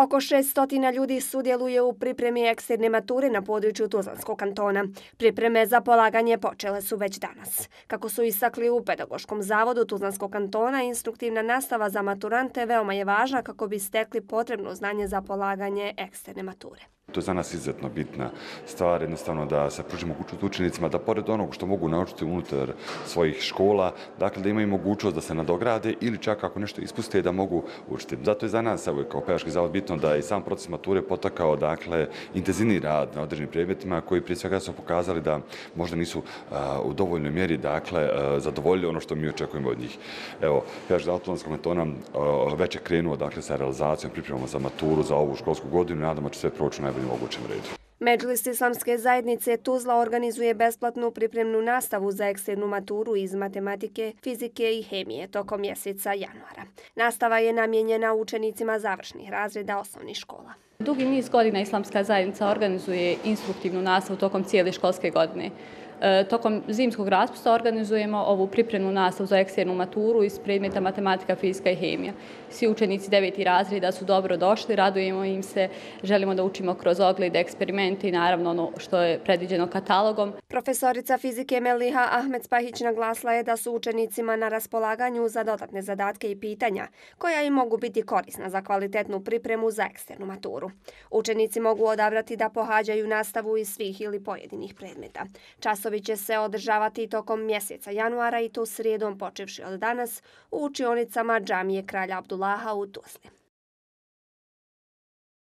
Oko 600 ljudi sudjeluje u pripremi eksterne mature na području Tuzlanskog kantona. Pripreme za polaganje počele su već danas. Kako su istakli u Pedagoškom zavodu Tuzlanskog kantona, instruktivna nastava za maturante veoma je važna kako bi stekli potrebno znanje za polaganje eksterne mature. To je za nas izuzetno bitna stvar, jednostavno da se pruži mogućnost učenicima da pored onog što mogu naučiti unutar svojih škola, dakle da imaju mogućnost da se nadograde ili čak ako nešto ispuste da mogu učiti. Zato je za nas kao Pedagoški zavod bitno da je i sam proces mature potakao intenzivni rad na određenim predmetima koji prije svega su pokazali da možda nisu u dovoljnoj mjeri zadovoljili ono što mi očekujemo od njih. Evo, Pedagoški zavod Tuzlanskog kantona već je krenuo sa realizacijom, pripremama za maturu za ovu školsku godinu i nadamo će sve proći u najboljem mogućem redu. Medžlis Islamske zajednice Tuzla organizuje besplatnu pripremnu nastavu za eksternu maturu iz matematike, fizike i hemije tokom mjeseca januara. Nastava je namijenjena učenicima završnih razreda osnovnih škola. Dugi niz godina Islamska zajednica organizuje instruktivnu nastavu tokom cijele školske godine. Tokom zimskog raspusta organizujemo ovu pripremnu nastavu za eksternu maturu iz predmeta matematika, fizika i hemija. Svi učenici 9. razreda su dobro došli, radujemo im se, želimo da učimo kroz oglede, eksperimente i naravno ono što je predviđeno katalogom. Profesorica fizike Meliha Ahmed Spahić naglasila je da su učenicima na raspolaganju za dodatne zadatke i pitanja koja im mogu biti korisna za kvalitetnu pripremu za eksternu maturu. Učenici mogu odabrati da pohađaju nastavu iz svih ili pojedinih predmeta. Časovi će se održavati tokom mjeseca januara i to srijedom počevši od danas u učionicama džamije Kralja Abdullaha u Tuzli.